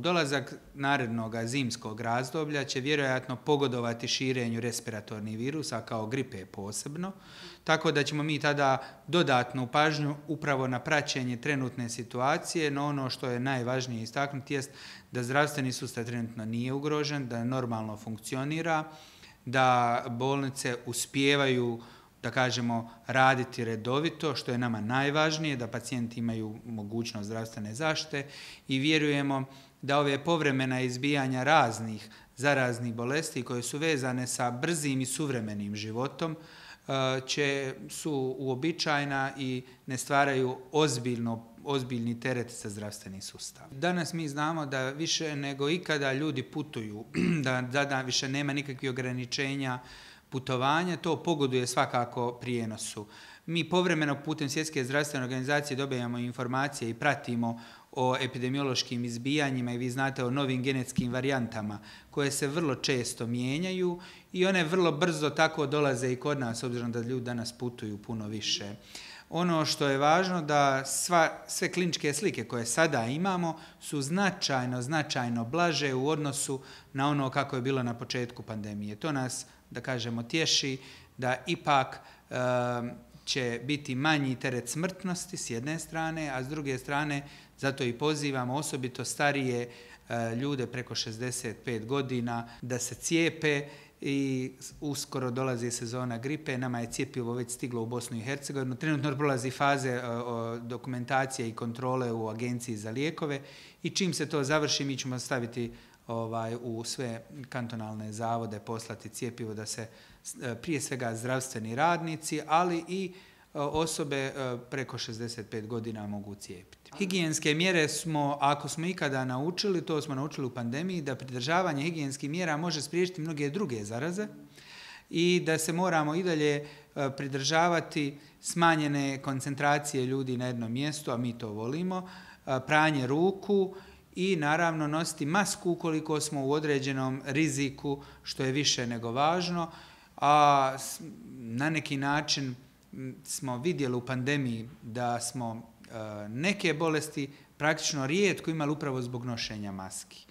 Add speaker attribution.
Speaker 1: dolazak narednog zimskog razdoblja će vjerojatno pogodovati širenju respiratornih virusa kao gripe posebno, tako da ćemo mi tada dodatnu pažnju upravo na praćenje trenutne situacije, no ono što je najvažnije istaknuti jest da zdravstveni sustav trenutno nije ugrožen, da normalno funkcionira, da bolnice uspijevaju, da kažemo, raditi redovito, što je nama najvažnije, da pacijenti imaju mogućnost zdravstvene zaštite i vjerujemo da ove povremena izbijanja raznih zaraznih bolesti koje su vezane sa brzim i suvremenim životom su uobičajena i ne stvaraju ozbiljni teret za zdravstveni sustav. Danas mi znamo da više nego ikada ljudi putuju, da više nema nikakvih ograničenja putovanja, to pogoduje svakako prijenosu. Mi povremeno putem Svjetske zdravstvene organizacije dobijamo informacije i pratimo o epidemiološkim izbijanjima i vi znate o novim genetskim varijantama koje se vrlo često mijenjaju i one vrlo brzo tako dolaze i kod nas, obzirom da ljudi danas putuju puno više. Ono što je važno da sve kliničke slike koje sada imamo su značajno blaže u odnosu na ono kako je bilo na početku pandemije. To nas, da kažemo, tješi da ipak će biti manji teret smrtnosti s jedne strane, a s druge strane zato i pozivamo osobito starije ljude preko 65 godina da se cijepe i uskoro dolazi sezona gripe. Nama je cjepivo već stiglo u Bosnu i Hercegovinu. Trenutno prolazi faze dokumentacije i kontrole u Agenciji za lijekove i čim se to završi mi ćemo staviti u sve kantonalne zavode, poslati cjepivo da se prije svega zdravstveni radnici, ali i osobe preko 65 godina mogu cijepiti. Higijenske mjere ako smo ikada naučili, to smo naučili u pandemiji, da pridržavanje higijenskih mjera može spriječiti mnoge druge zaraze i da se moramo i dalje pridržavati smanjene koncentracije ljudi na jednom mjestu, a mi to volimo, pranje ruku i naravno nositi masku ukoliko smo u određenom riziku, što je više nego važno, a na neki način smo vidjeli u pandemiji da smo neke bolesti praktično rijetko imali upravo zbog nošenja maski.